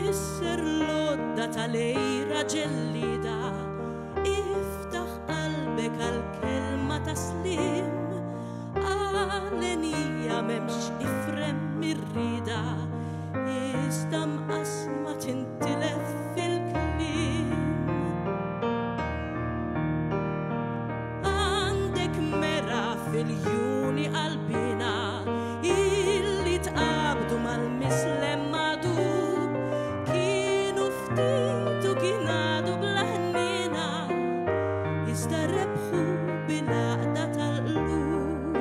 Kisser l-għodda tal-għira ġellieda, iftaħ qalbek għall-kelma ta' sliem. Għalenija m'hemmx ifrem mir-rieda, iżda mqassma tintilef fil-kliem. Għandek mera fil-juni qalbina illi tqabdu mal-mislem magħdub kienu ftit u kien għadu bla ħniena iżda rebħu bil-għaqda tal-qlub.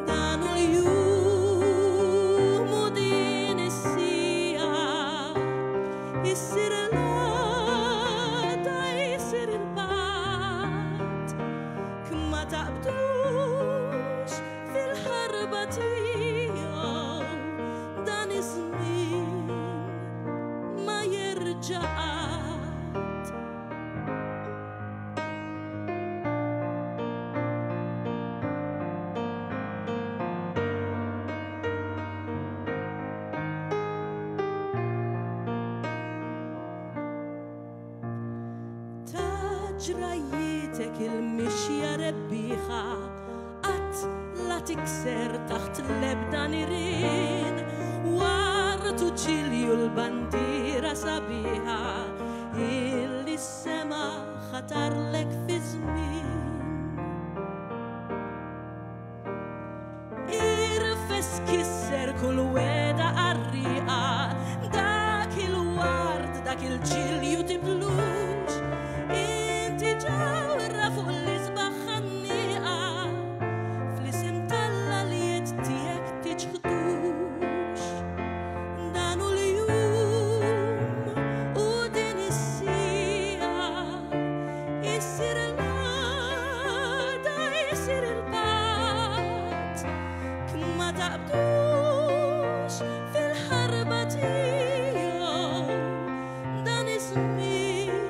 Dan hu l-jum u din is-siegħa issir l-għada jsir il-patt. Ma taqbdux fil-ħarba tiegħu dan iż-żmien ma jerġa' qatt. Ta' ġrajjietek il-mixja rebbieħa qatt la tikser taħt l-ebda nirien wartu ġilju l-bandiera sabiħa illi s-sema ħatarlek fi żmien. Irfes kisser kull wegħda qarrieqa, dak il-ward, dak il-ġilju tiblux, inti ġawra fuq l-isbaħ ħannieqa, fl-isem t'Alla li jedd tiegħek tiċħdux. Dan hu l-jum u din is-siegħa, issir l-għada, jsir il-patt. Ma taqbdux fil-ħarba tiegħu, dan iż-żmien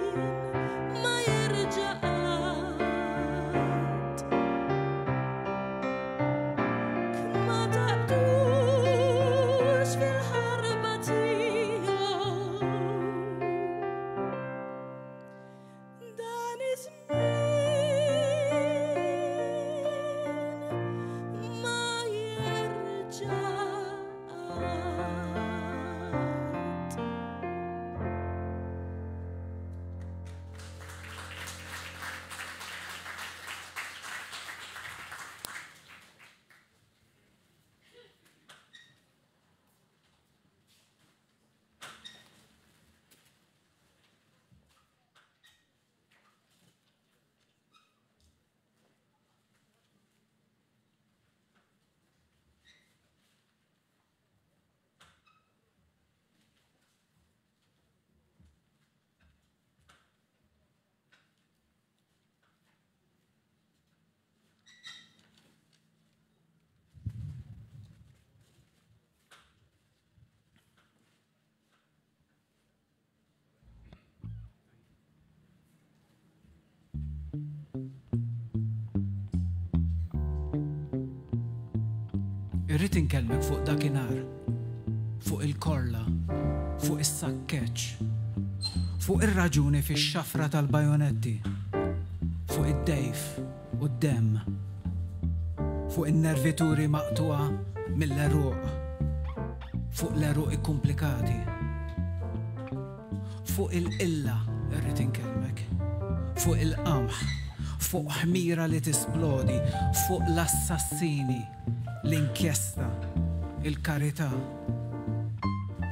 ma jerġa' qatt. Ma taqbdux fil-ħarba tiegħu, dan iż-żmien ma jerġa' qatt. Irrid inkellmek fuq dakinhar, fuq il-korla, fuq is-sakkeġġ, fuq ir-raġuni fix-xafra tal-bajonetti, fuq id-dejf u d-demm, fuq in-nervituri maqtugħa mill-għeruq, fuq l-għeruq ikkumplikati. Fuq il-qilla rrid inkellmek. Fuq il-qamħ. Fuq ħmira li tisplodi. Fuq l-assassini. L-inkjesta. Il-karità.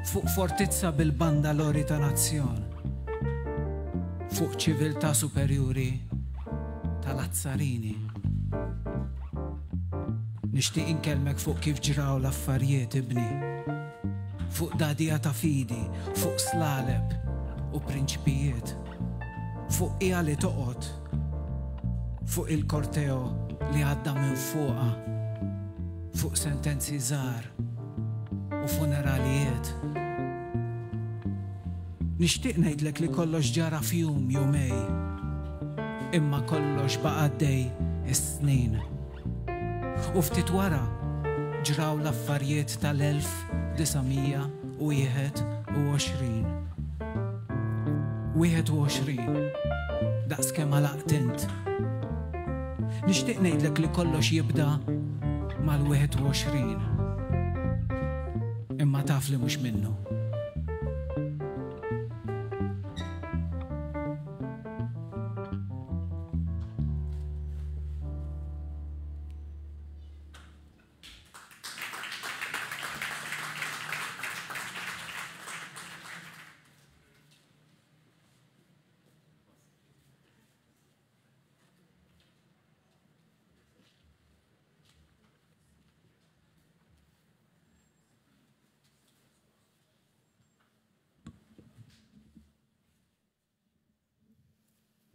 Fuq fortizza bil-bandalori ta' nazzjon. Fuq ċiviltà superjuri tal-azzarini. Nixtieq inkellmek fuq kif ġraw l-affarjiet, ibni. Fuq dagħdigħa ta' fidi, fuq slaleb u prinċpijiet. Fuq qiegħa li toqgħod. Fuq il-korteo li għadda minn fuqha. Fuq sentenzi żgħar u funeralijiet. Nixtieq ngħidlek li kollox ġara f'jum, jumej. Imma kollox baqa' għaddej is-snin. U ftit wara ġraw l-affarjiet tal-1981. 21. 21. Daqs kemm għalaqt int. Nixtieq ngħidlek li kollox jibda mal-21. Imma taf li mhux minnu.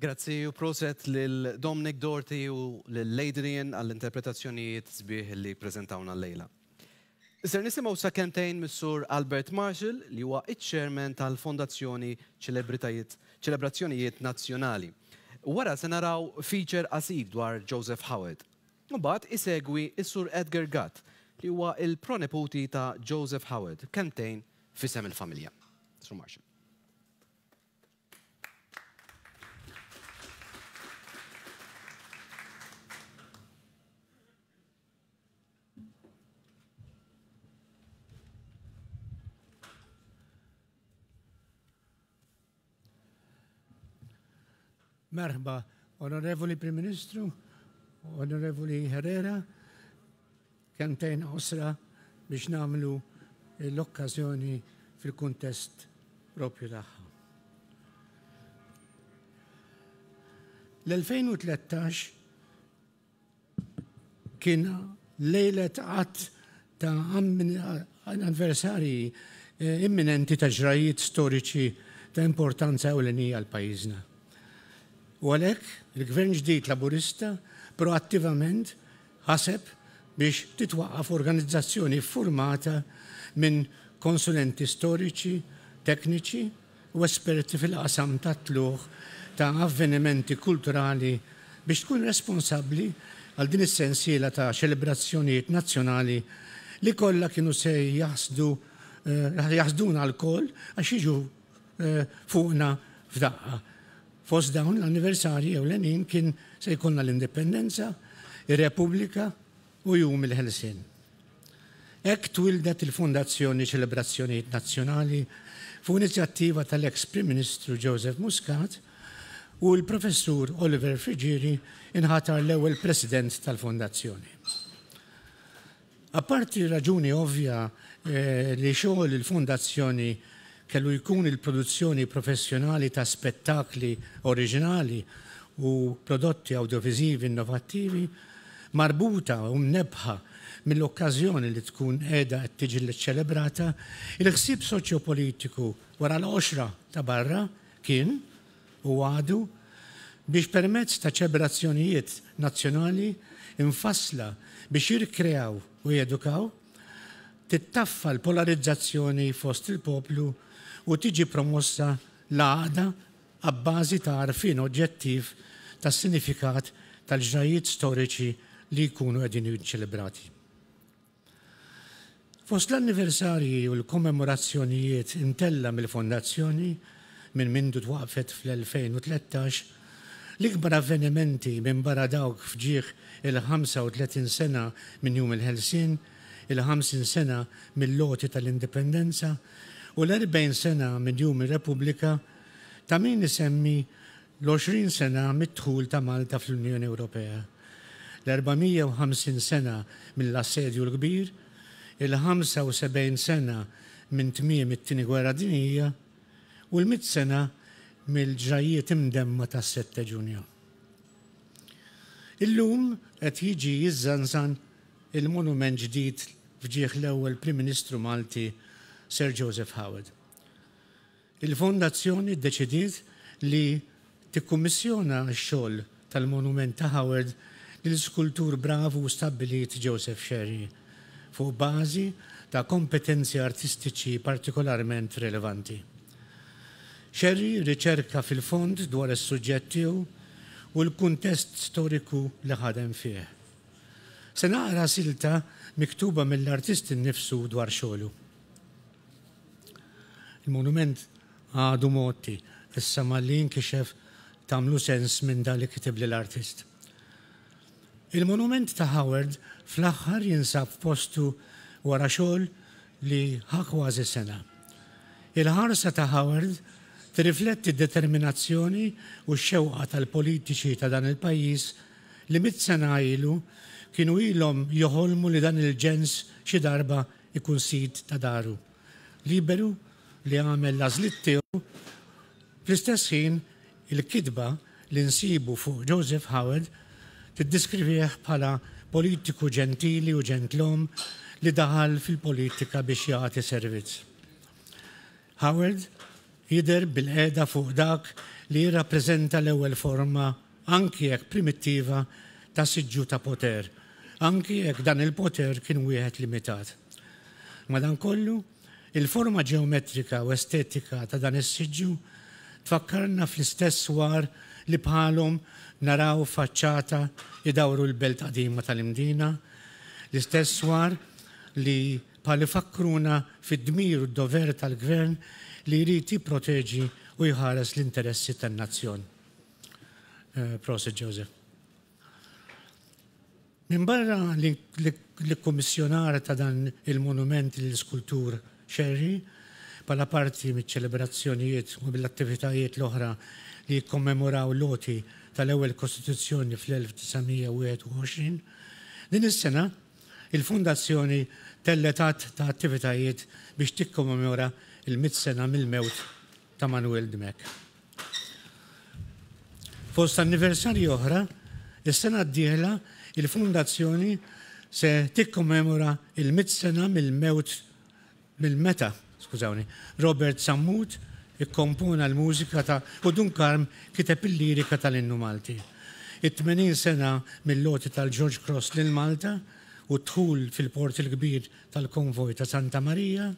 Grazzi u proset lil Dominic Doherty u lil Adrian għall-interpretazzjonijiet sbieħ li preżentawna llejla. Ser nisimgħu sa kelmtejn mis-Sur Albert Marshall li huwa iċ-Chairman tal-Fondazzjoni Ċelebritajiet Ċelebrazzjonijiet Nazzjonali. Wara se naraw feature qasir dwar Joseph Howard. Imbagħad isegwi s-Sur Edgar Gatt li huwa l-proneputi ta' Joseph Howard, kelmtejn f'isem il-familja. Sur Marshall. Merħba, Onorevoli Prim Ministru, Onorevoli Herrera, kelmtejn qosra biex nagħmlu l-okkażjoni fil-kuntest propju tagħha. L-2013 kien lejlet għadd ta' anniversarji imminenti ta' ġrajiet storiċi ta' importanza ewlenija għal pajjiżna. U għalhekk il-Gvern ġdid Laburista proattivament ħaseb biex titwaqqaf organizzazzjoni ffurmata minn konsulenti storiċi, tekniċi u esperti fil-qasam tat-tlugħ ta' avvenimenti kulturali biex tkun responsabbli għal din is-sensiela ta' ċelebrazzjonijiet nazzjonali li kollha kienu se jaħsdu jaħsduna lkoll għax jiġu fuqna f'daqqa. Fost dawn l-anniversarji ewlenin kien se jkollna l-Indipendenza, ir-Repubblika u Jum il-Ħelsien. Hekk twieldet il-Fondazzjoni Ċelebrazzjonijiet Nazzjonali fuq inizjattiva tal-eks Prim Ministru Joseph Muscat u l-Professur Oliver Friggieri inħatar l-ewwel President tal-Fondazzjoni. Apparti r-raġuni ovvja li xogħol il-Fondazzjoni kellu jkun il-produzzjoni professjonali ta' spettakli oriġinali u prodotti awdjoviżivi innovattivi, marbuta u mnebbħa mill-okkażjoni li tkun qiegħda qed tiġi ċċelebrata, il-ħsieb soċjopolitiku wara l-qoxra ta' barra kien, u għadu, biex permezz ta' ċebrazzjonijiet nazzjonali mfassla biex jirrikreaw u jedukaw, tittaffa l-polarizzazzjoni fost il-poplu u tiġi promossa l-għaqda abbażi ta' għarfien oġġettiv tas-sinifikat tal-ġrajjiet storiċi li jkunu qegħdin jiċċelebrati. Fost l-anniversarji u l-kommemorazzjonijiet imtellgħa mill-Fondazzjoni minn mindu twaqqfet fl-2013, l-ikbar avvenimenti minbarra dawk f'ġieħ il-35 sena minn Jum il-Ħelsien, il-50 sena mill-għoti tal-Indipendenza u l-40 sena minn Jum ir-Repubblika, ta' min isemmi l-20 sena mid-dħul ta' Malta fl-Unjoni Ewropea, l-450 sena mill-Assedju l-Kbir, il-75 sena minn tmiem it-Tieni Gwerra Dinjija u l-mitt sena mill-ġrajjiet imdemma tas-Sette Ġunju. Illum qed jiġi jiżżanżan il-monument ġdid f'ġieħ l-ewwel Prim Ministru Malti Sir Joseph Howard. Il-Fondazzjoni ddeċidiet li tikkummissjona x-xogħol tal-monument ta' Howard lil skultur bravu u stabbilit Joseph Scerri, fuq bażi ta' kompetenzi artistiċi partikolarment rilevanti. Scerri rriċerka fil-fond dwar is-suġġett tiegħu u l-kuntest storiku li ħadem fih. Se naqra silta miktuba mill-artist innifsu dwar xogħlu. Il-monument għadu mgħotti, issa malli jinkixef tagħmlu sens minn dak li kitibli l-artist. Il-monument ta' Howard fl-aħħar jinsab f'postu wara xogħol li ħa kważi sena. Il-ħarsa ta' Howard tirrifletti d-determinazzjoni u x-xewqa tal-politiċi ta' dan il-pajjiż li mitt sena ilu kienu ilhom joħolmu li dan il-ġens xi darba jkun sid ta' daru, liberu li jagħmel l-għażliet tiegħu. Fl-istess ħin, il-kitba li nsibu fuq Joseph Howard tiddiskrivih bħala politiku ġentili u ġentlom li daħal fil-politika biex jagħti servizz. Howard jidher bilqiegħda fuq dak li jirrappreżenta l-ewwel forma, anki jekk primittiva, ta' siġġu ta' poter, anki jekk dan il-poter kien wieħed limitat. Madankollu, Il-forma ġeometrika u estetika ta' dan is-siġġu tfakkarna fl-istess swar li bħalhom naraw faċċata jdawru l-belt qadima tal-Imdina, l-istess swar li bħal ifakkruna fid-dmir u d-dover tal-Gvern li jrid jipproteġi u jħares l-interessi tan-nazzjon. Prosit Joseph. Minbarra l-ikkummissjonar ta' dan il-monument lill-iskultur Scerri, bħala parti miċ-ċelebrazzjonijiet u mill-attivitajiet l-oħra li jikkommemoraw l-għoti tal-ewwel Kostituzzjoni fl-1921, din is-sena il-Fondazzjoni tellgħet għadd ta' attivitajiet biex tikkommemora l-mitt sena mill-mewt ta' Manuel Dimech. Fost anniversarji oħra, is-sena d-dieħla il-Fondazzjoni se tikkommemora il-mitt sena mill-mewt mill-meta, skużawni, Robert Sammut ikkompona l-mużika ta' u Dun Karm kiteb il-lirika tal-Innu Malti. It-80 sena mill-għoti tal-George Cross lil Malta u d-dħul fil-Port il-Kbir tal-Konvoj ta' Santa Marija,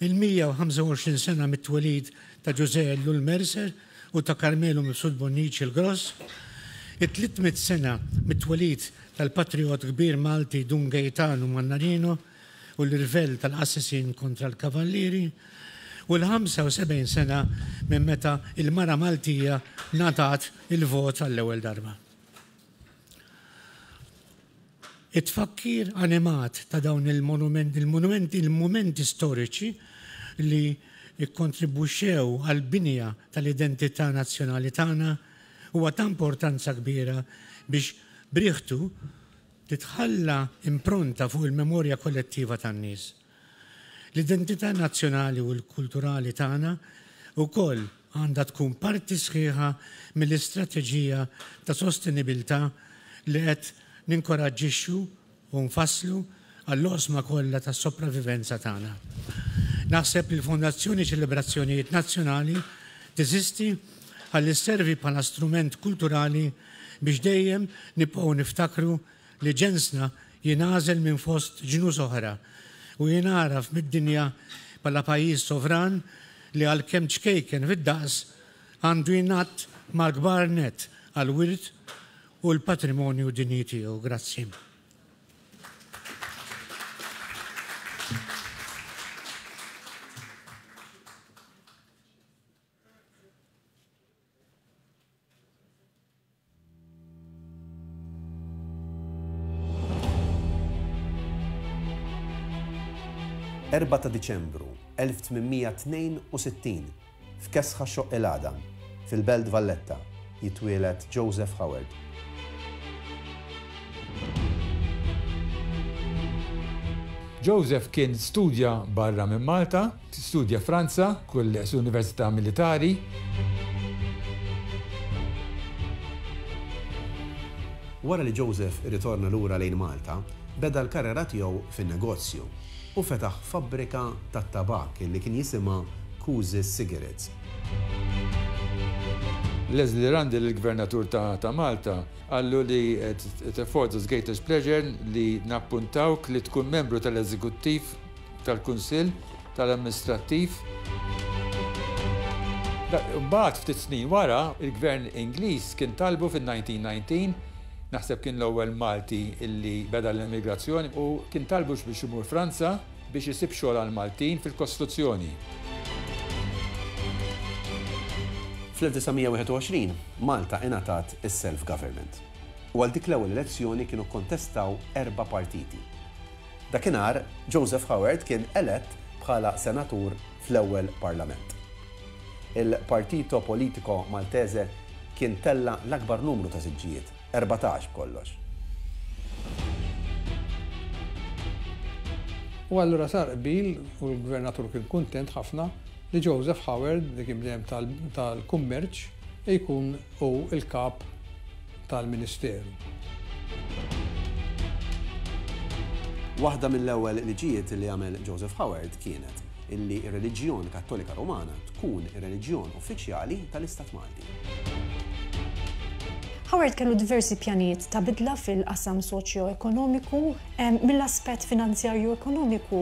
il-125 sena mit-twelid ta' Ġużè Ellul Mercer u ta' Karmenu Mifsud Bonnici l-Gross, it-300 sena mit-twelid tal-patrijott kbir Malti Dun Gejtanu Mannarino u l-irvell tal-qassisin kontra l-Kavallieri, u l-75 sena minn meta l-mara Maltija ngħatat il-vot għall-ewwel darba. It-tfakkir animat ta' dawn il-monumenti, il-monumenti, il-mumenti storiċi li kkontribwixxew għall-binja tal-identità nazzjonali tagħna huwa ta' importanza kbira biex b'riħtu titħalla impronta fuq il-memorja kollettiva tan-nies. L-identità nazzjonali u l-kulturali tagħna wkoll għandha tkun parti sħiħa mill-istrateġija ta' sostenibilità li qed ninkoraġġixxu u nfasslu għall-oqsma kollha tas-sopravivenza tagħna. Naħseb li l-Fondazzjoni Ċelebrazzjonijiet Nazzjonali teżisti ħalli sservi bħala strument kulturali biex dejjem nibqgħu niftakru li ġensna jingħażel minn fost ġnus oħra u jingħaraf mid-dinja bħala pajjiż sovran li għalkemm ċkejken fid-daqs għandu jingħadd mal-kbar nett għall-wirt u l-patrimonju dinji tiegħu. Grazzi. 4 ta' Diċembru 1862, f'kesħa Xoqq il-Għadam, fil-Belt Valletta, jitwieled Joseph Howard. Joseph kien studja barra minn Malta, studja Franza, kull Università Militari. Wara li Joseph irritorna lura lejn Malta, beda l-karriera tiegħu fin-negozju u fetaħ fabbrika tat-tabakk li kien jisimha Cusi's Cigarettes. Leslie Rundle, il-Gvernatur ta' Malta, Qallu li it affords us greatest pleasure li nappuntawk li tkun membru tal-Eżekuttiv tal-Kunsill tal-Amministrattiv. Imbagħad ftit snin wara, il-Gvern Ingliż kien talbu fin-1919, naħseb kien l-ewwel Malti li beda l-emigrazzjoni, u kien talbu biex imur Franza biex isib xogħol għall-Maltin fil-kostruzzjoni. Fl-1921, Malta ingħatat is-self-government u għal dik l-ewwel elezzjoni kienu kkontestaw erba' partiti. Dakinhar, Joseph Howard kien elett bħala senatur fl-ewwel Parlament. Il-Partito Politico Maltese kien tella' l-akbar numru ta' siġġijiet, 14 b'kollox. U allura sar qbil u l-Gvernatur kien kuntent ħafna li Joseph Howard, li kien bniedem tal-kummerċ, jkun hu l-kap tal-Ministeru. Waħda mill-ewwel liġijiet li għamel Joseph Howard kienet illi r-reliġjon Kattolika Rumana tkun ir-reliġjon uffiċjali tal-Istat Malti. Howard kellu diversi pjanijiet ta' bidla fil-qasam soċjo-ekonomiku. Mill-aspett finanzjarju ekonomiku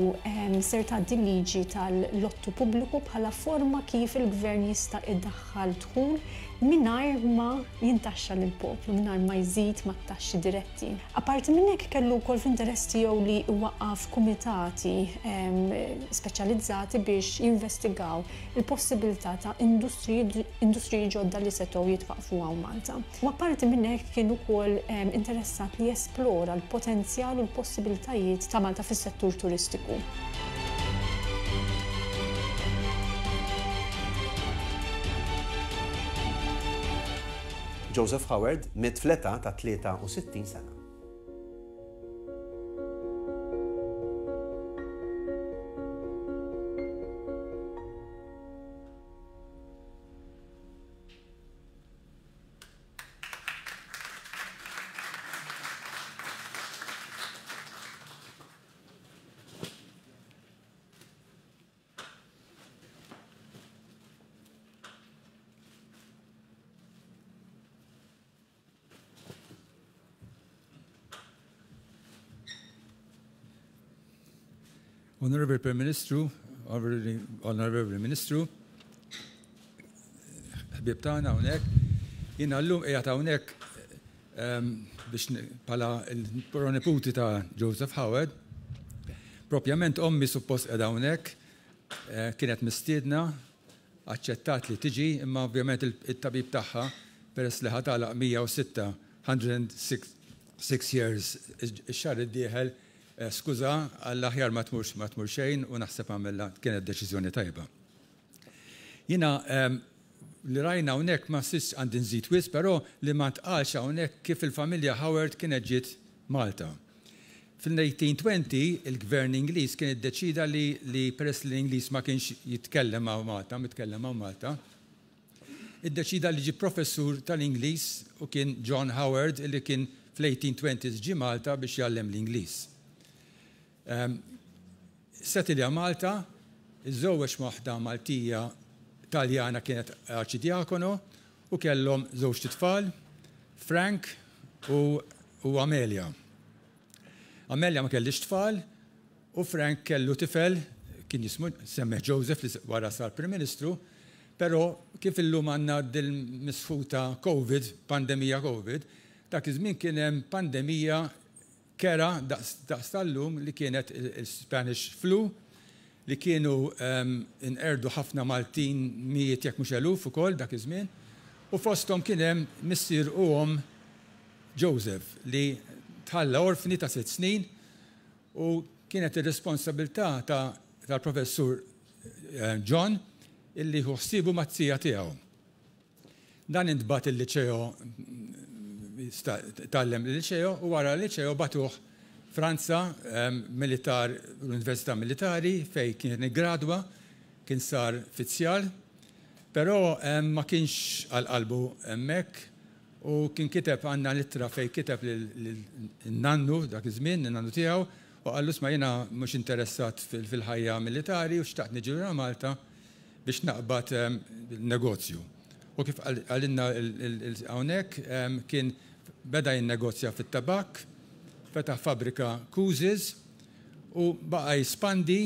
ser tgħaddi l-liġi tal-lottu pubbliku bħala forma kif il-gvern jista' idaħħal dħul mingħajr ma jintaxxa lill-poplu, mingħajr ma jżid mat-taxxi diretti. Apparti minn hekk kellu wkoll fl-interess tiegħu li jwaqqaf kumitati speċjalizzati biex jinvestigaw il-possibilità ta' industriji ġodda li setgħu jitwaqqfu hawn Malta. U apparti minn hekk kien ukoll interessat li jesplora l-potenzjal u l-possibilitajiet ta' Malta fis-settur turistiku. Joseph Howard miet fl-età ta' 63 sena. Honorable Prime Ministru, Honorable Ministru, ħbieb tagħna hawnhekk, jiena llum qiegħed hawnhekk ehm, biex bħala l-proniputi ta' Joseph Howard. Propjament ommi suppost qiegħda hawnhekk, eh, kienet mistiedna Aċċettat li tiġi, imma ovvjament it-tabib tagħha, peress li ħa tagħlaq 106, 106 years ix-xahar id-dieħel, skuża, għall-aħjar ma tmurx ma tmur xejn u naħseb għamilha kienet deċiżjoni tajba. Jiena li rajna hawnhekk ma nsistx għandi nżid wisq, però li ma ntqalx hawnhekk kif il-familja Howard kienet ġiet Malta. Fil-1820 il-Gvern Ingliż kien iddeċieda li li peress li l-Ingliż ma kienx jitkellem hawn Malta, mitkellem hawn Malta, iddeċieda li ġie professur tal-Ingliż u kien John Howard li kien fl-1820s ġie Malta biex jgħallem l-Ingliż. Setilja Malta, iżżewweġ ma' waħda Maltija Taljana kienet arċidjakono u kellhom żewġt itfal, Frank u u Amelia. Amelia ma kellhiex tfal u Frank kellu tifel kien jismu semmeh Joseph li wara sar Prim Ministru, però kif illum għandna dil-misħuta Covid, pandemija Covid, dak iż-żmien kien hemm pandemija kerha daqs tal-lum li kienet il-Spanish Flu li kienu nqerdu ħafna Maltin mijiet jekk mhux eluf ukoll dak iż-żmien u fosthom kien hemm missier u omm Joseph li tħalla orfni ta' sitt snin u kienet ir-responsabilità tal-Professur John illi jieħu ħsiebu mat-tija tiegħu. Dan intbagħat il-Liċeo, tgħallem il-Liċeo u wara l-Liċeo bagħtuh Franza, militar, l-Università Militari fejn kien iggradwa, kien sar fizzjal, però ma kienx għal qalbu hemmhekk u kien kiteb għandna l-ittra fejn kiteb lin-nannu dak iż-żmien, lin-nannu tiegħu, u qallu isma' jiena mhux interessat fil-ħajja militari u xtaqt niġi lura Malta biex naqbad negozju. U kif qalilna hawnhekk kien beda jinnegozja fit-tabakk, fetaħ fabbrika Cruises u baqa' jispandi.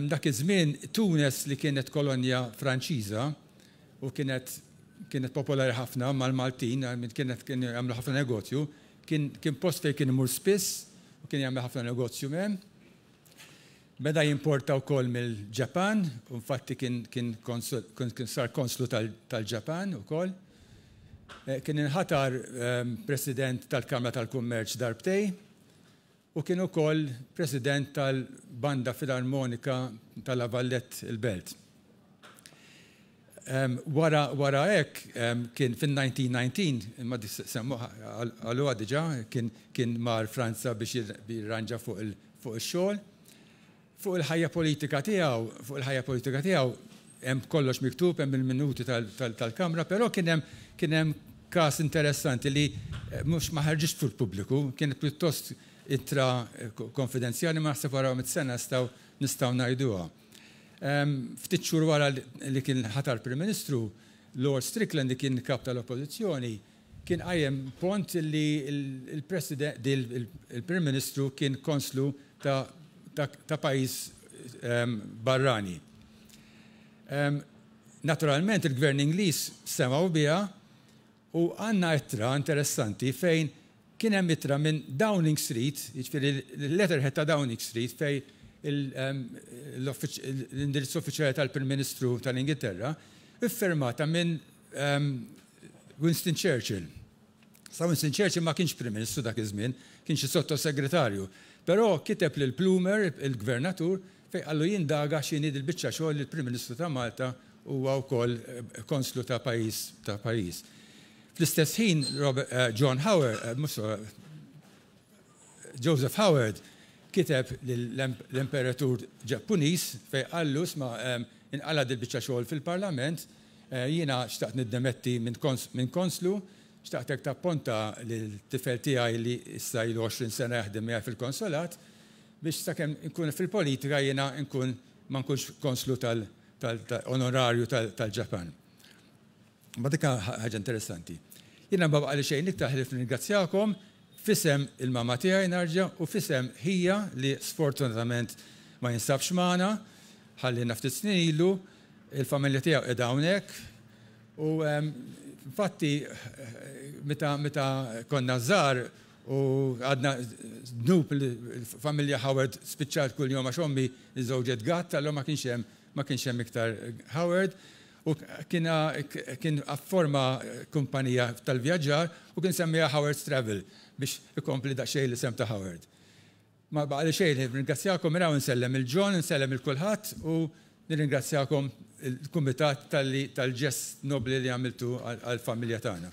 Dak iż-żmien Tunes li kienet kolonja Franċiża u kienet kienet popolari ħafna mal-Maltin, kienet kienu jagħmlu ħafna negozju, kien kien post fejn kien imur spiss u kien jagħmel ħafna negozju hemm. Beda jimporta wkoll mill-Ġapan, u infatti kien kien kien sar konslu tal-Ġapan ukoll. Kien inħatar President tal-Kamra tal-Kummerċ darbtej u kien ukoll President tal-Banda Filarmonika ta' La Vallette il-Belt. Wara wara hekk kien fin-1919, imma dik semmuha qaluha diġà, kien kien mar Franza biex jirranġa fuq il fuq ix-xogħol. Fuq il-ħajja politika tiegħu, fuq il-ħajja politika tiegħu hemm kollox miktub, hemm il-minuti tal-Kamra, però kien hemm kien hemm każ interessanti li mhux ma ħarġitx fil-pubbliku, kienet pjuttost ittra konfidenzjali ma naħseb wara mitt sena nistgħu nistgħu ngħiduha. Ftit xhur wara li kien ħatar Prim Ministru, Lord Strickland li kien Kap tal-Oppożizzjoni kien qajjem pont li l-Prim Ministru kien konslu ta' pajjiż barrani. Naturalment il-Gvern Ingliż semgħu biha U għandna ittra interessanti fejn kien hemm ittra minn Downing Street, jiġifieri l-letterhead ta' Downing Street fejn l-indirizz uffiċjali tal-Prim Ministru tal-Ingilterra, iffirmata minn Winston Churchill. Sa Winston Churchill ma kienx Prim Ministru dak iż-żmien, kien xi sottosegretarju. Però kiteb lil Plumer, il-Gvernatur, fejn qallu jindaga x'inhi dil-biċċa xogħol li l-Prim Ministru ta' Malta Huwa wkoll konslu ta' pajjiż ta' pajjiż. Fl-istess ħin John Howard, mhux Joseph Howard kiteb lill-Imperatur Ġappuniż fejn qallu isma' inqala' dil-biċċa xogħol fil-Parlament, jiena xtaqt niddemetti minn konslu, xtaqtek tapponta lil-tifel tiegħi li issa ilu 20 sena jaħdem miegħi fil-konsolat biex sakemm inkun fil-politika jiena nkun ma nkunx konslu tal onorarju tal-Ġapan. Ma dik ħaġa interessanti. Jiena ma baqali xejn iktar ħlief nirringrazzjakom f'isem il-mama tiegħi narġa' u f'isem ħija li sfortunatament ma jinsabx magħna, ħalliena ftit snin ilu, il-familja tiegħu qiegħda hawnhekk u infatti meta meta konna żgħar u għadna dnub il-familja Howard spiċċat kuljum għax ommi żżewġet Gatt allura ma kienx hemm ma kienx hemm iktar Howard u kien kien afforma kumpanija tal-vjaġġar u kien semmiha Howard's Travel biex ikompli daqsxejn l-isem ta' Howard. Ma baqali xejn ħlief nirringrazzjakom minn hawn insellem 'il John, insellem 'il kulħadd u nirringrazzjakom il-kumitat talli tal-ġest nobbli li għamiltu għall-familja tagħna.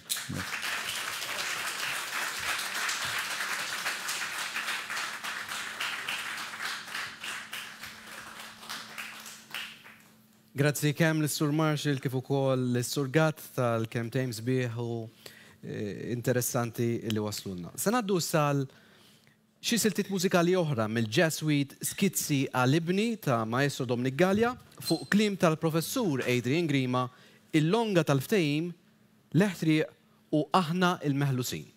Grazzi kemm lis-Sur Marshall kif ukoll lis-Sur Gatt tal-kelmtejn sbieħ u interessanti li waslulna. Se ngħaddu issa għal xi siltiet mużikali oħra mill-Jazz Suite Skizzi għal Ibni ta' Maestro Dominic Galea fuq kliem tal-Professur Adrian Grima, Il-Longa tal-Ftehim, L-Eħtrieq u Aħna l-Meħlusin.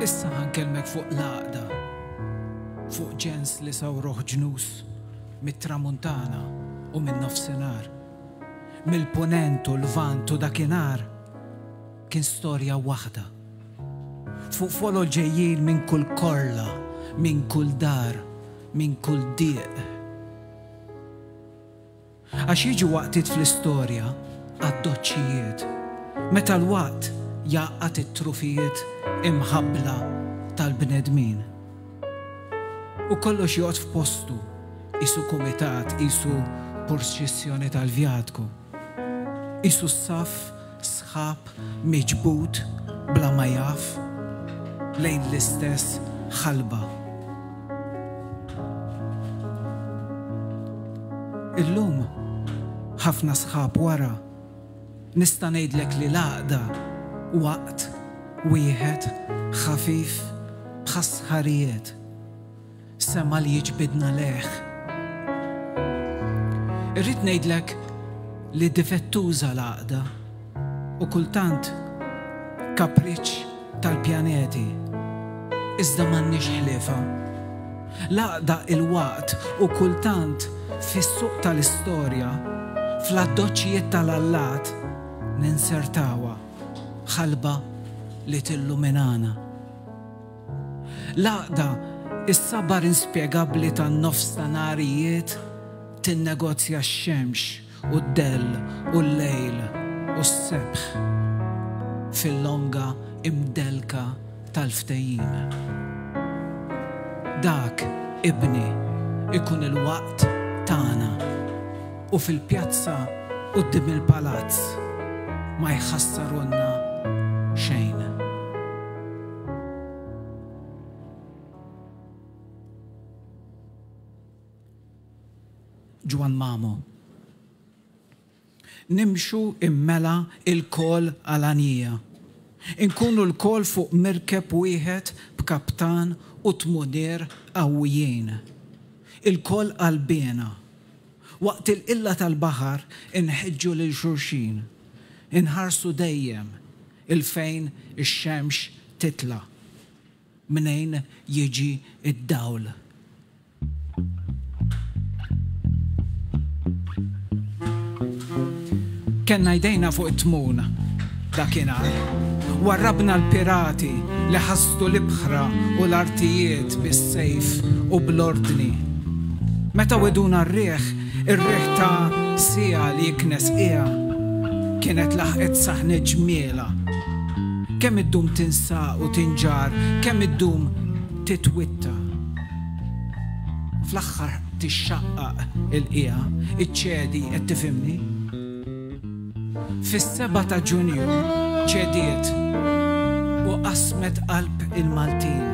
Issa ħa nkellmek fuq l-għaqda, fuq ġens li sawruh ġnus mit-tramuntana u min-nofsinhar, mill-punent u l-lvant u dakinhar kien storja waħda. Fuq folol ġejjin minn kull korla, minn kull dar, minn kull dieq. Għax jiġu waqtiet fl-istorja għad-doċċijiet, meta l-waqt jgħaqqad it-trufijiet imħabbla tal-bnedmin. U kollox joqgħod f'postu, qisu kumitat, qisu purċissjoni tal-vjatku, qisu saff sħiħ. sħab miġbud bla ma jaf lejn l-istess ħalba. Illum, ħafna sħab wara, nista' ngħidlek li l-għaqda waqt wieħed ħafif bħas-sħarijiet. Sema li jiġbidna lejh. Irrid ngħidlek li difettuża l-għaqda u kultant kapriċċ tal-pjaneti. Iżda m'għandniex ħliefa. L-għaqda il-waqt u kultant fis-suq tal-istorja, fl-addoċċijiet tal-allat, ninsertawha ħalba li tilluminana. L-għaqda, is-sabar inspjegabbli tan-nofstanharijiet tinnegozja x-xemx u d-dell u l-lejl u s-sebħ fil-longa imdellka tal-ftehim. Dak, ibni, ikun il-waqt tagħna u fil-pjazza quddiem il-palazz ma jħassarulna xejn. Ġwann Mamo. Nimxu immela ilkoll għalanija. Inkunu lkoll fuq mirkeb wieħed b'kaptan u tmunier qawwijin. Ilkoll qalbiena. Waqt il-qilla tal-baħar inħeġġu lil xulxin. Inħarsu dejjem 'il fejn ix-xemx titla', mnejn jiġi d-dawl. Kellna jdejna fuq it-tmun dakinhar. Warrabna l-pirati li ħasdu l-ibħra u l-artijiet bis-sejf u bl-ordni. Meta wegħduna r-riħ, Ir-riħ ta' siegħa li jiknes qiegħa kienet laħqet saħnet ġmielha. Kemm iddum tinsaq u tinġarr, kemm iddum titwitta. Fl-aħħar tixxaqqaq il-qiegħa, iċċedi, qed tifhimni? Fis-sebgħa ta' Ġunju ċediet u qasmet qalb il-Maltin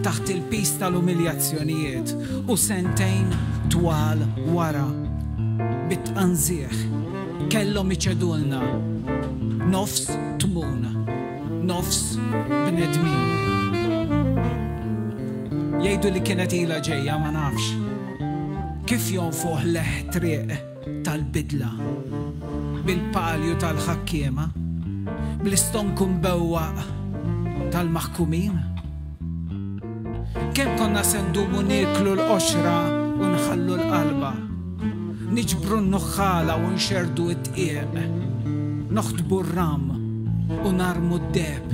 taħt il-piż tal-umiljazzjonijiet u sentejn twal wara, bit-tqanżiħ, kellhom iċedulna nofs tmun, nofs bnedmin. Jgħidu li kienet ilha ġejja, ma nafx. Kif jonfoħ leħ triq tal-bidla, bil-palju tal-ħakkiema, bl-istonku mbewwaq tal-maħkumin? Kemm konna se ndumu nieklu l-qoxra u nħallu l-qalba, niġbru n-nuħħala u nxerrdu d-dqiq, noħtbu r-ram u narmu d-deheb?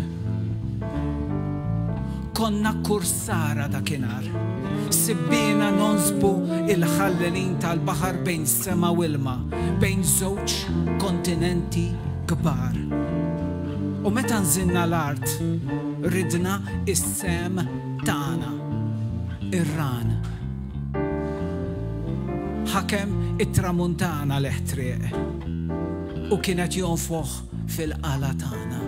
Konna kursara dakinhar. Sibbiena nonsbu il-ħallelin tal-baħar bejn sema u ilma, bejn żewġ kontinenti kbar. U meta nżilna l-art, ridna s-sehem tagħna, ir-ran. Ħakem it-tramuntana l-eħtrieq u kien qed jonfoħ fil-qala tagħna.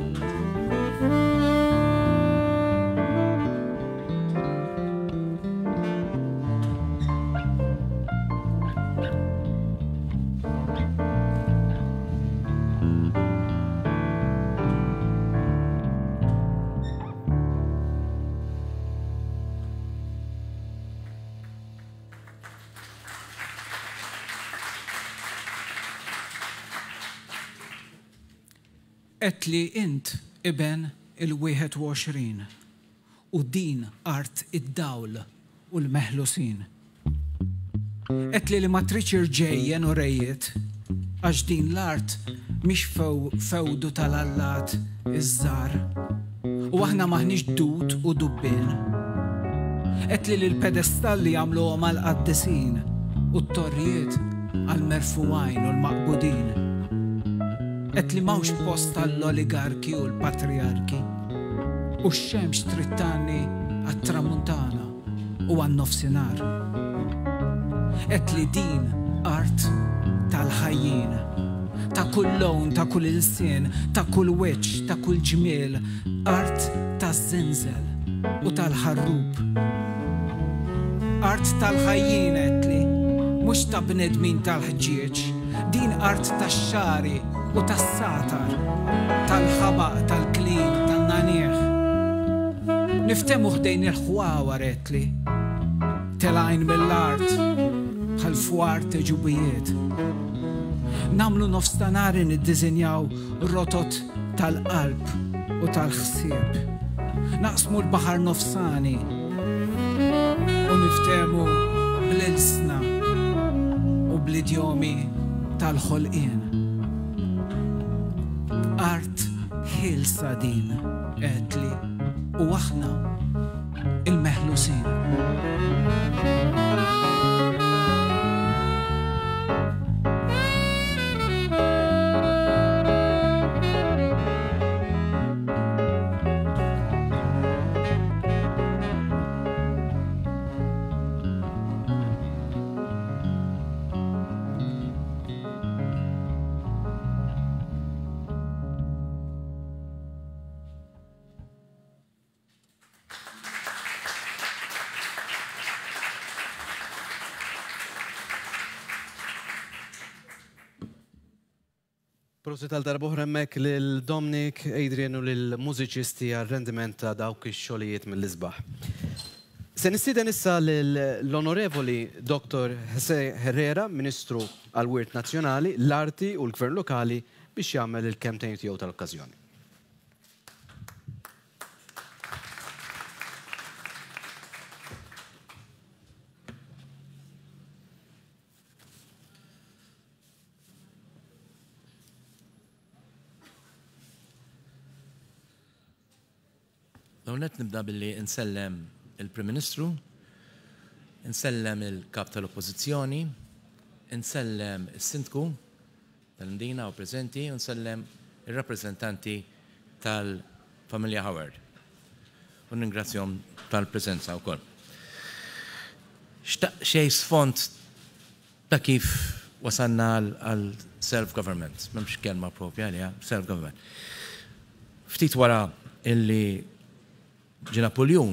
Għedt li int iben il-21 u din art id-dawl u l-meħlusin. Għedt li li ma tridx irġejjen u rejiet għax din l-art mhix fewdu tal-allat iż-żgħar u aħna m'aħniex dud u dubbien. Għedt li li l-pedestalli għamluhom għall-qaddisin u t-torrijiet għall-merfugħin u l-maqbudin. Għedt li m'hawnx post għall-oligarki u l-patrijarki. U x-xemx trid tgħanni għat-tramuntana u għan-nofsinhar. Għedt li din art tal-ħajjin. Ta' kull lewn, ta' kull ilsien, ta' kull wiċċ, ta' kull ġmiel, art taż-żinżel u tal-ħarrub. Art tal-ħajjin għedtli, mhux ta' bnedmin tal-ħġieġ, din art tax-xagħri u tas-sagħtar, tal-ħabaq, tal-klin, tan-nagħniegħ. Niftehmu ħdejn il-ħwawar għedtli. Telgħin mill-art bħal fwar t'għeġubijiet. Nagħmlu nofs ta' nhar niddiżinjaw rotot tal-qalb u tal-ħsieb. Naqsmu l-baħar nofsani u niftehmu bl-ilsna u bl-idjomi tal-ħolqien. Art ħielsa din, għedtli, u aħna il-meħlusin. Prosit għal darb'oħra hemmhekk lil Dominic, Adrian u lil mużiċisti għar-rendiment ta' dawk ix-xogħlijiet mill-isbaħ. Se nistieden issa lill-Onorevoli Dottor José Herrera, Ministru għall-Wirt Nazzjonali, l-Arti u l-Gvern Lokali biex jagħmel il-kelmtejn tiegħu tal-okkażjoni. L-ewwel nett nibda billi nsellem il-Prim Ministru, insellem il-Kap tal-Oppożizzjoni, insellem is-Sindku tal-Imdina u preżenti u nsellem ir-rappreżentanti tal-familja Howard. U ningrazzjahom tal-preżenza wkoll. Xtaq xejn sfond ta' kif wasalna għal self-government, m'hemmx kelma propja għaliha, self-government. Ftit wara illi ġie Napuljun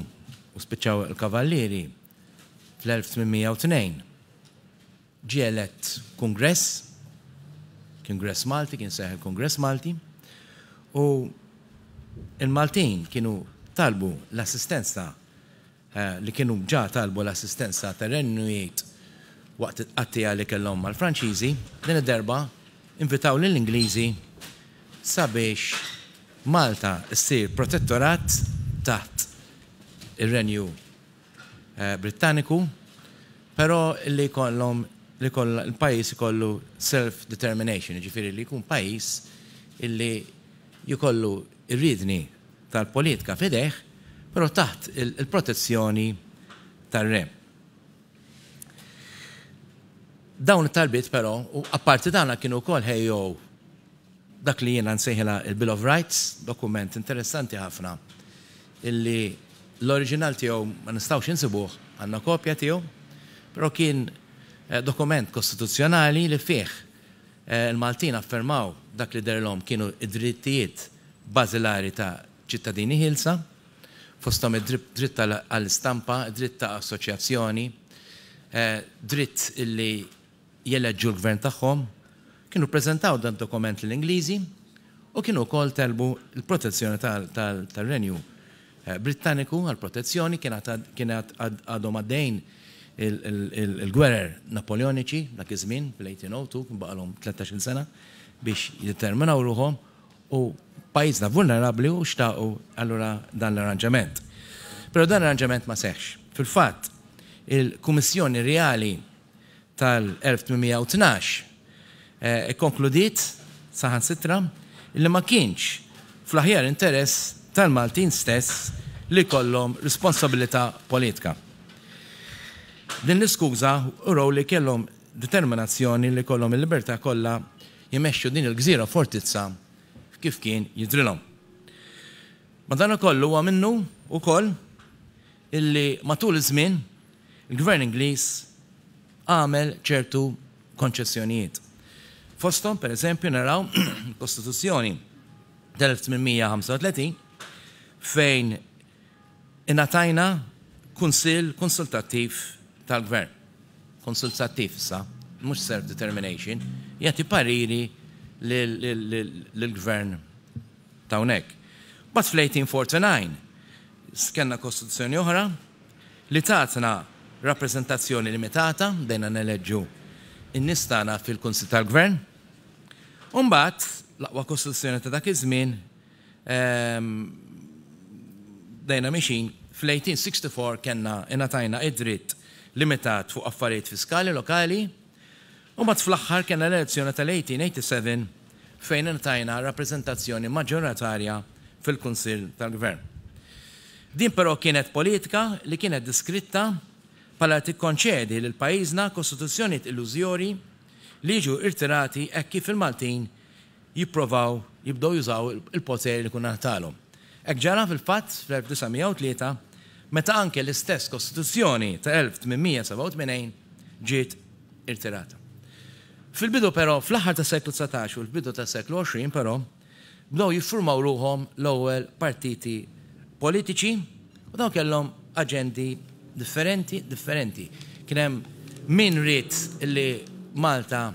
u spiċċaw il-Kavallieri fl-1802, ġie elett Kungress, Kungress Malti, kien seħ il-Kungress Malti, u il-Maltin kienu talbu l-assistenza li kienu ġa talbu l-assistenza tar-Renju Unit waqt it-tqattigħa li kellhom mal-Franċiżi, din id-darba invitaw lill-Ingliżi sabiex Malta ssir protettorat taħt ir-Renju Brittaniku, però li jkollhom li l-pajjiż ikollu self-determination, jiġifieri li jkun pajjiż illi jkollu r-riedni tal-politika f'idejh, però taħt il-protezzjoni tar-re. Dawn it-talbiet però, u apparti dan kienu wkoll ħejjew dak li jiena nsejħilha il-Bill of Rights, dokument interessanti ħafna illi l-oriġinal tiegħu ma nistgħux insibuh, għandna kopja tiegħu, però kien dokument kostituzzjonali li fih il-Maltin affermaw dak li derilhom kienu id-drittijiet bażilari ta' ċittadini ħielsa, fosthom id-dritt għall-istampa, id-dritt ta' assoċjazzjoni, dritt illi jeleġġu l-gvern tagħhom. Kienu ppreżentaw dan dokument lill-Ingliżi u kienu wkoll telbu l-protezzjoni tar-Renju Brittaniku għall-protezzjoni, kien għadhom għaddejjin il-gwerer Napoleoniċi dak iż-żmien fl-1802, kien baqalhom 13-il sena biex jiddeterminaw ruħhom u pajjiżna vulnerabbli u xtaqu allura dan l-arranġament. Però dan l-arranġament ma seħħx. Fil-fatt, il-Kummissjoni Reali tal-1812 ikkonkludiet saħansitra li ma kienx fl-aħjar interess tal-Maltin stess li jkollhom responsabilità politika. Din l-iskuża urew li kellhom determinazzjoni li jkollhom il-libertà kollha jmexxu din il-gżira fortizza kif kien jidhrilhom. Madankollu huwa minnu wkoll illi matul iż-żmien il-Gvern Ingliż għamel ċertu konċessjonijiet. Fosthom, per eżempju, naraw il-Kostituzzjoni tal-1835 fejn ingħatajna kunsill konsultattiv tal-gvern. Konsultattiv issa, mhux self-determination, jagħti pariri lill-gvern ta' hawnhekk. Mbagħad fl-1849 kellna kostituzzjoni oħra li tatna rappreżentazzjoni limitata, bdejna neleġġu n-nies tagħna fil-Kunsill tal-Gvern. U mbagħad l-aqwa kostituzzjoni ta' dak iż-żmien bdejna mixin fl-1864 kellna ingħatajna id-dritt limitat fuq affarijiet fiskali lokali u mbagħad fl-aħħar kellna l-elezzjoni tal-1887 fejn ingħatajna rappreżentazzjoni maġġoratarja fil-Kunsill tal-Gvern. Din però kienet politika li kienet diskritta bħala li tikkonċedi lil pajjiżna kostituzzjonijiet illużjorji li jiġu irtirati hekk kif il-Maltin jipprovaw jibdew jużaw il-poter li kun ngħatalhom. Hekk ġara fil-fatt fl-1903 meta anke l-istess Kostituzzjoni ta' 1887 ġiet irtirata. Fil-bidu però, fl-aħħar tas-seklu 19 u l-bidu tas-seklu 20 però, bdew jiffurmaw ruħhom l-ewwel partiti politiċi u dawn kellhom aġendi differenti differenti. Kien hemm min ried li Malta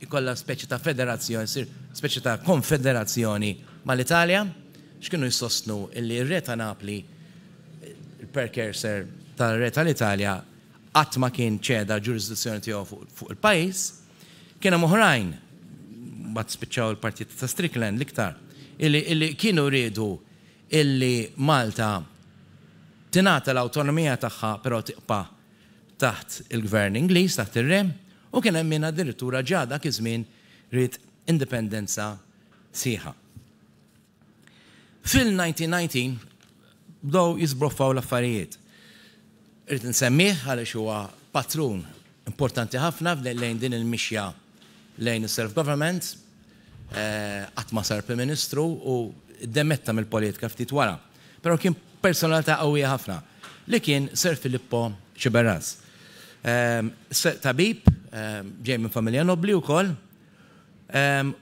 jkollha speċi ta' federazzjoni, ssir speċi ta' konfederazzjoni mal-Italja, x'kienu jsostnu li r-Re ta' Napli, il-precursor tar-Re tal-Italja, qatt ma kien ċeda l-ġurisdizzjoni tiegħu fuq il-pajjiż. Kien hemm oħrajn, mbagħad spiċċaw il-partiti ta' Strickland l-iktar, illi kienu riedu illi Malta tingħata l-awtonomija tagħha però tibqa' taħt il-gvern Ingliż, taħt ir-re, u kien hemm min addirittura ġa dak iż-żmien ried indipendenza sħiħa. Fil-1919 bdew jiżbroffaw l-affarijiet. Irrid insemmih għaliex huwa patrun importanti ħafna lejn din il-mixja lejn is-self-government. Qatt ma sar Prim Ministru u ddemetta mill-politika ftit wara. Però kien personalità qawwija ħafna li kien Sir Filippo Sciberras. Tabib, ġej minn familja nobbli wkoll,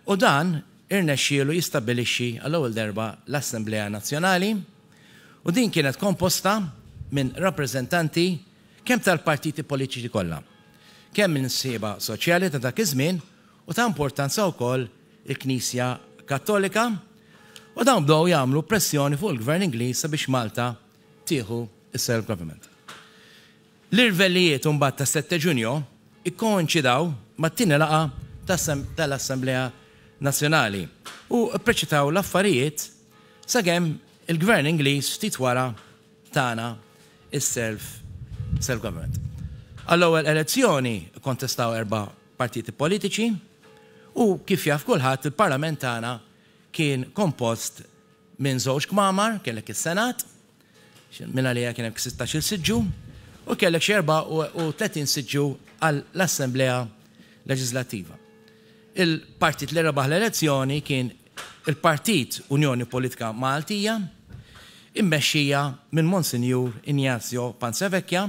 u dan irnexxielu jistabbilixxi għall-ewwel darba l-Assemblea Nazzjonali u din kienet komposta minn rappreżentanti kemm tal-partiti politiċi kollha, kemm minn sħieba soċjali ta' dak iż-żmien u ta' importanza wkoll il-Knisja Kattolika u dawn bdew jagħmlu pressjoni fuq il-Gvern Ingliż sabiex Malta tieħu s-self-government. L-irvellijiet imbagħad tas-Sette Ġunju ikkoinċidaw mat-tieni laqgħa tal-Assemblea Nazzjonali u ppreċitaw l-affarijiet sakemm il-Gvern Ingliż ftit wara tana s-self self-government. Għall-ewwel elezzjoni kkontestaw erba' partiti politiċi u kif jaf kulħadd il-Parlament tagħna kien kompost minn żewġ kmamar, kellek is-Senat, minn għaliha kien hemm 16-il siġġu, u kellek xi 34 siġġu għall-Assemblea Leġislattiva. Il-partit li rebaħ l-elezzjoni kien il-Partit Unjoni Politika Maltija, immexxija minn Monsinjur Ignazio Panzavecchia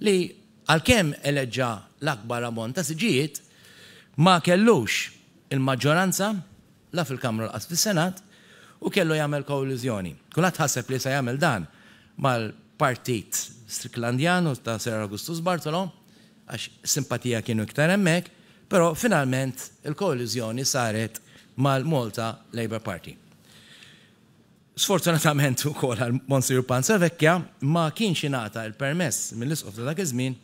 li għalkemm eleġġa l-akbar ammont ta' siġġijiet, ma kellux il-maġġoranza la fil-Kamra u lanqas fis-Senat u kellu jagħmel koaliżjoni. Kulħadd ħaseb li se jagħmel dan mal-Partit Stricklandian u ta' Sir Augustus Bartolo għax simpatija kienu iktar hemmhekk, però finalment il-koaliżjoni saret mal-Malta Labour Party. Sfortunatament ukoll għal Monsignor Panzavecchia ma kienx ingħata l-permess mill-Isqof ta' dak iż-żmien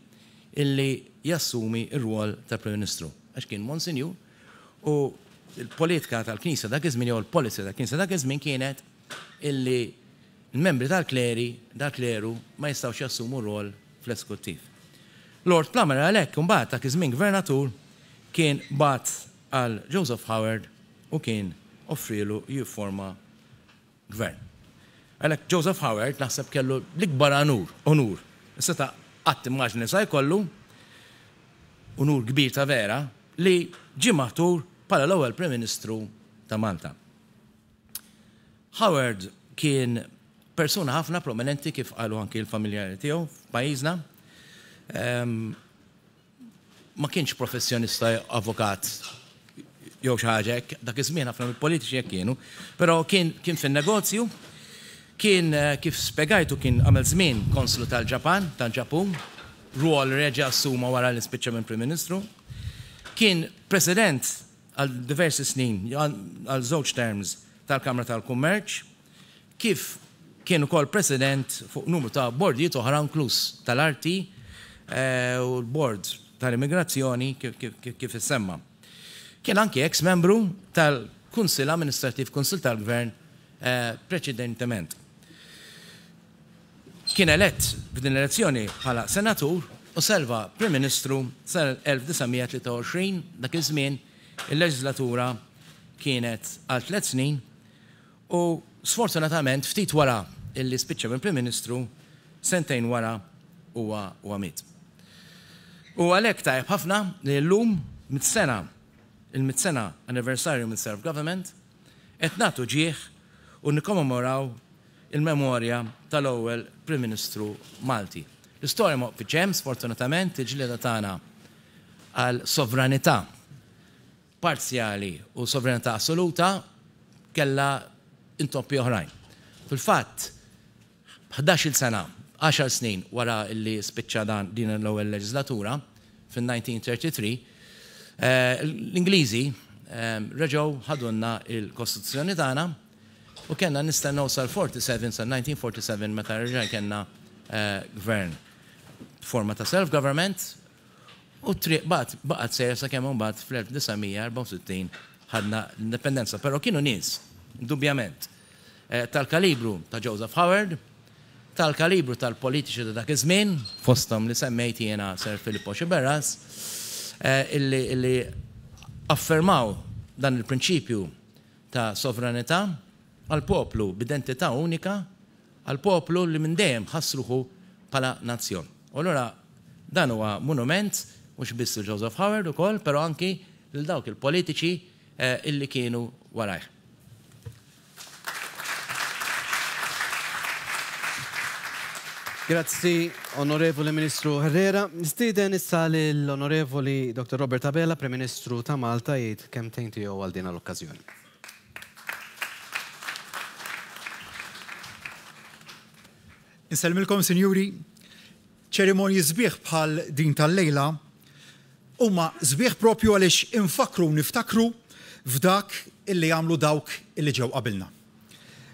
illi jassumi r-rwol ta' Prim Ministru għax kien Monsinjur u l-politika tal-Knisja dak iż-żmien jew il-policy tal-Knisja dak iż-żmien kienet illi l-membri tal-kleri, tal-kleru ma jistgħux jassumu rwol fl-eskuttiv. Lord Plummer għalhekk imbagħad dak iż-żmien Gvernatur kien bagħat għal Joseph Howard u kien offrielu jifforma gvern. Għalhekk Joseph Howard naħseb kellu l-ikbar anur, onur, li seta' qatt immaġna li sa jkollu, unur kbir ta' vera, li ġie maħtur bħala l-ewwel Prim Ministru ta' Malta. Howard kien persuna ħafna prominenti kif qalu anki l-familjari tiegħu f'pajjiżna. Ehm, ma kienx professjonista avukat jew xi ħaġa hekk, dak iż-żmien ħafna mill-politiċi hekk kienu, però kien kien fin-negozju, kien kif spjegajtu kien għamel żmien konslu tal-Ġapan, tal-Ġapun, rwol reġa' assuma wara li spiċċa minn Prim Ministru. Kien President għal diversi snin, għal żewġ terms tal-Kamra tal-Kummerċ, kif kien ukoll President fuq numru ta' bordijiet oħra inkluż tal-Arti u l-Bord tal-Immigrazzjoni kif issemma. Kien anki eks membru tal-Kunsill Amministrattiv, Kunsill tal-Gvern preċedentement. Kien elett f'din l-elezzjoni bħala Senatur u serva Prim Ministru sal-1923, dak iż-żmien il-leġislatura kienet għal tlett snin u sfortunatament ftit wara illi spiċċa minn Prim Ministru, sentejn wara huwa huwa miet. U għalhekk tajjeb ħafna li llum mit-sena il-mitt sena anniversarju mill-self-government qed nagħtu ġieħ u nikkommemoraw il-memorja tal-ewwel Prim Ministru Malti. L-istorja ma waqfitx hemm, sfortunatament, il-ġlieda tagħna għal sovranità parzjali u sovranità assoluta kellha intoppi oħrajn. Fil-fatt, ħdax-il sena, għaxar snin wara li spiċċa dan din l-ewwel leġislatura, fin-1933, l-Ingliżi reġgħu ħadulna l-Kostituzzjoni tagħna u kellna nistennew sal-47, sal-1947 meta reġa' kellna gvern b'forma ta' self-government u t-triq baqgħet baqgħet sejra sakemm imbagħad fl-1964 ħadna l-indipendenza. Però kienu nies, indubjament, tal-kalibru ta' Joseph Howard, tal-kalibru tal-politiċi ta' dak iż-żmien, fosthom li semmejt jiena Sir Filippo Sciberras, illi illi affermaw dan il-prinċipju ta' sovranità għal poplu b'identità unika, għal poplu li minn dejjem ħass ruħu bħala nazzjon. U allura dan huwa monument mhux biss lil Joseph Howard ukoll, però anki lil dawk il-politiċi illi kienu warajh. Grazzi, Onorevoli Ministru Herrera. Nistieden issa lill-Onorevoli Dr. Robert Abela, Prim Ministru ta' Malta, jgħid kelmtejn tiegħu għal din l-okkażjoni. Insellmilkom, sinjuri. Ċerimonji sbieħ bħal din tal-lejla huma sbieħ propju għaliex infakkru u niftakru f'dak illi għamlu dawk illi ġew qabilna.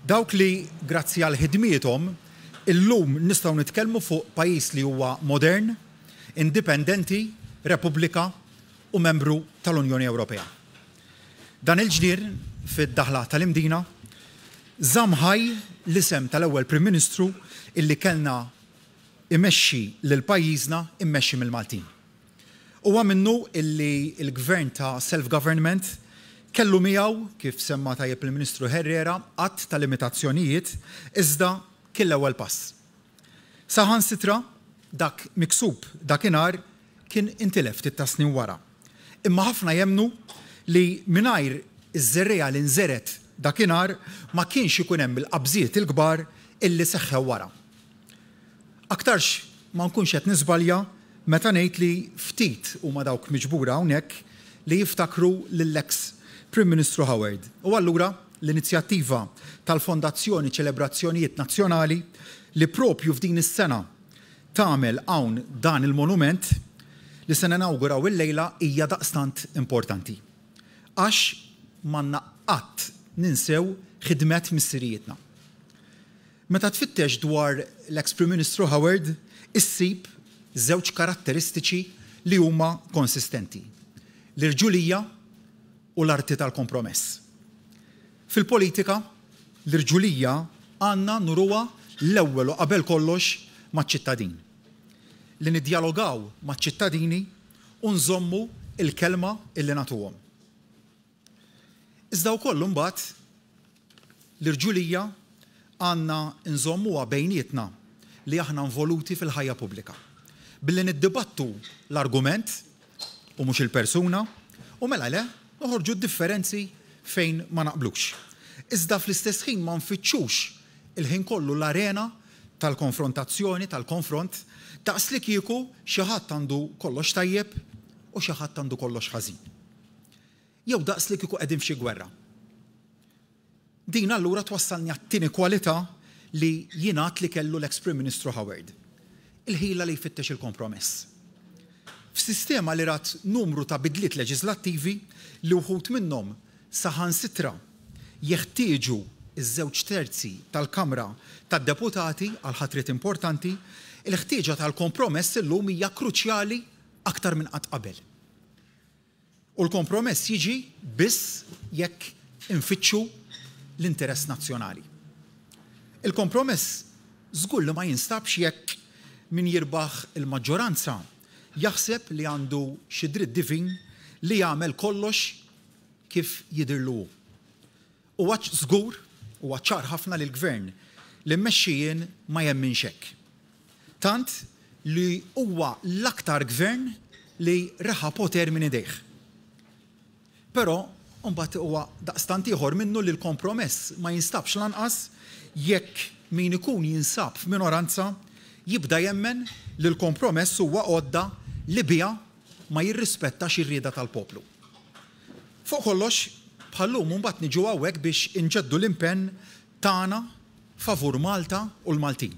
Dawk li grazzi għal ħidmiethom illum nistgħu nitkellmu fuq pajjiż li huwa modern, indipendenti, Repubblika u membru tal-Unjoni Ewropea. Dan il-ġnien fid-daħla tal-Imdina żamm ħaj l-isem tal-ewwel Prim Ministru illi kellna imexxi lil pajjiżna immexxi mill-Maltin. Huwa minnu illi l-Gvern ta' self-government kellu miegħu, kif semma tajjeb il-Ministru Herrera, għadd ta' limitazzjonijiet, iżda kien l-ewwel pass. Saħansitra dak miksub dakinhar kien intilef ftit tas-snin wara. Imma ħafna jemmnu li mingħajr iż-żerriegħa li nżergħet dakinhar ma kienx ikun hemm il-qabżiet il-kbar illi seħħew wara. Aktarx ma nkunx qed niżbalja meta ngħid li ftit huma dawk miġbura hawnhekk li jiftakru lill-eks Prim Ministru Howard u allura l-inizjattiva tal-Fondazzjoni Ċelebrazzjonijiet Nazzjonali li propju f'din is-sena tagħmel hawn dan il-monument li se ninawguraw illejla hija daqstant importanti. Għax m'għandna qatt ninsew ħidmet missirijietna. Meta tfittex dwar l-eks Prim Ministru Howard issib żewġ karatteristiċi li huma konsistenti, l-irġulija u l-arti tal-kompromess. Fil-politika, l-irġulija għandna nuruha l-ewwel u qabel kollox maċ-ċittadin. Li niddjalogaw maċ-ċittadini u nżommu l-kelma illi nagħtuhom. Iżda wkoll imbagħad l-irġulija għandna nżommuha bejnietna li aħna involuti fil-ħajja pubblika. Billi niddibattu l-argument u mhux il-persuna u mela le noħorġu d-differenzi fejn ma naqblux. Iżda fl-istess ħin ma nfittxux il-ħin kollu l-arena tal-konfrontazzjoni, tal-konfront, daqslikieku xi ħadd għandu kollox tajjeb u xi ħadd għandu kollox ħażin. Jew daqs li kieku qegħdin f'xi gwerra. Din allura twassalni għat-tieni kwalità li jingħad li kellu l-eks Prim Ministru Howard, il-ħila li jfittex il-kompromess. F'sistema li rat numru ta' bidliet leġiżlattivi li wħud minnhom saħansitra jeħtieġu ż-żewġ terzi tal-Kamra tad-Deputati għal ħatriet importanti, il-ħtieġa tal-kompromess illum hija kruċjali aktar minn qatt qabel. U l-kompromess jiġi biss jekk infittxu l-interess nazzjonali. Il-kompromess żgur li ma jinstabx jekk min jirbaħ il-maġġoranza jaħseb li għandu xi dritt divin li jagħmel kollox kif jidhirlu hu. Huwa żgur, huwa ċar ħafna li l-Gvern li mmexxi jien ma jemminx hekk. Tant li huwa l-aktar Gvern li reħa poter minn idejh. Però mbagħad huwa daqstant ieħor minnu li l-kompromess ma jinstabx lanqas jekk min ikun jinsab f'minoranza jibda jemmen li l-kompromess huwa għodda li biha ma jirrispettax ir-rieda tal-poplu. Fuq kollox, bħal-lum imbagħad niġu hawnhekk biex inġeddu l-impenn tagħna favur Malta u l-Maltin.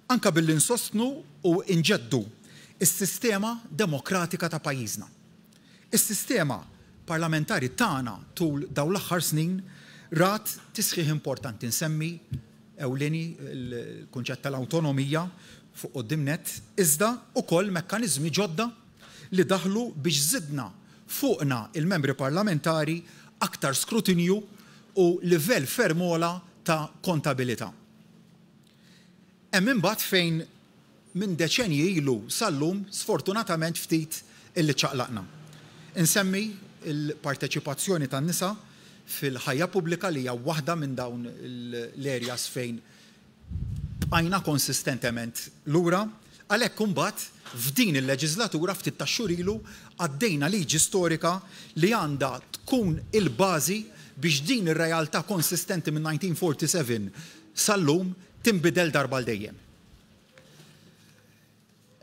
Anke billi nsostnu u nġeddu s-sistema demokratika ta' pajjiżna. Is-sistema parlamentari tagħna tul dawn l-aħħar snin rat tisħiħ importanti, nsemmi ewlieni l-kunċett tal-awtonomija fuq quddiem nett, iżda wkoll mekkaniżmi ġodda li daħlu biex żidna fuqna il-membri parlamentari aktar skrutinju u livell ferm ogħla ta' kontabilità. Hemm imbagħad fejn minn deċenji ilu sal-lum sfortunatament ftit illi ċċaqlaqna. Insemmi l-parteċipazzjoni tan-nisa fil-ħajja pubblika li hija waħda minn dawn l-areas fejn bqajna konsistentement lura. Għalhekk imbagħad f'din il-leġiżlatura ftit tax-xhur ilu għaddejna liġi storika li għandha tkun il-bażi biex din ir-realtà konsistenti minn 1947 sal-lum tinbidel darba għal dejjem.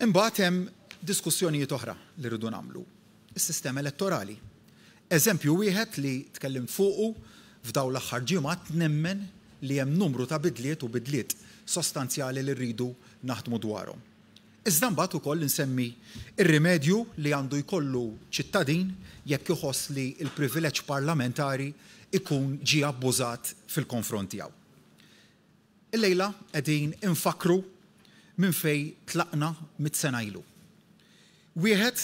Imbagħad hemm diskussjonijiet oħra li rridu nagħmlu. Is-sistema elettorali. Eżempju wieħed li tkellimt fuqu f'dawn l-aħħar ġimgħat nemmen li hemm numru ta' bidliet u bidliet sostanzjali li rridu naħdmu dwarhom. Iżda mbagħad ukoll insemmi r-rimedju li għandu jkollu ċittadin jekk iħoss li l-privileġġ parlamentari jkun ġie abbużat fil-konfront tiegħu. Illejla qegħdin infakkru minn fejn tlaqna mitt sena ilu. Wieħed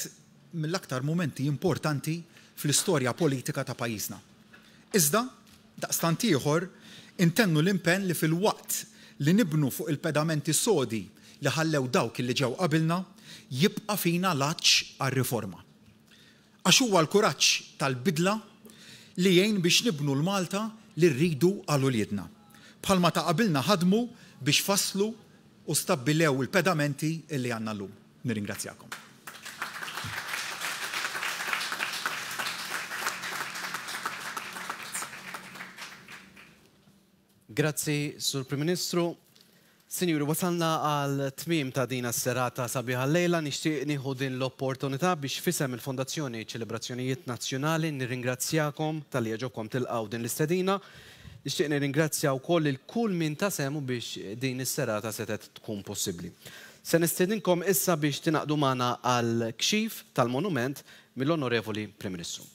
mill-aktar mumenti importanti fl-istorja politika ta' pajjiżna. Iżda, daqstant ieħor, intennu l-impenn li filwaqt li nibnu fuq il-pedamenti sodi li ħallew dawk li ġew qabilna, jibqa' fina l-għatx għar-riforma. Għax huwa l-kuraġġ tal-bidla li jgħin biex nibnu l-Malta li rridu għal uliedna. Bħalma ta' qabilna ħadmu biex fasslu u stabbilew il-pedamenti li għandna llum. Nirringrazzjakom. Grazzi, Sur Prim Ministru. Sinjuri, wasalna għal tmiem ta' din is-serata sabiħa llejla. Nixtieq nieħu din l-opportunità biex f'isem il-Fondazzjoni Ċelebrazzjonijiet Nazzjonali nirringrazzjakom talli għeġobkom tilqgħu din l-istedina. Nixtieq nirringrazzja wkoll lil kull min ta sehmu biex din is-serata setgħet tkun possibbli. Se nistiedinkom issa biex tingħaqdu magħna għall-kxif tal-monument mill-Onorevoli Prim Ministru.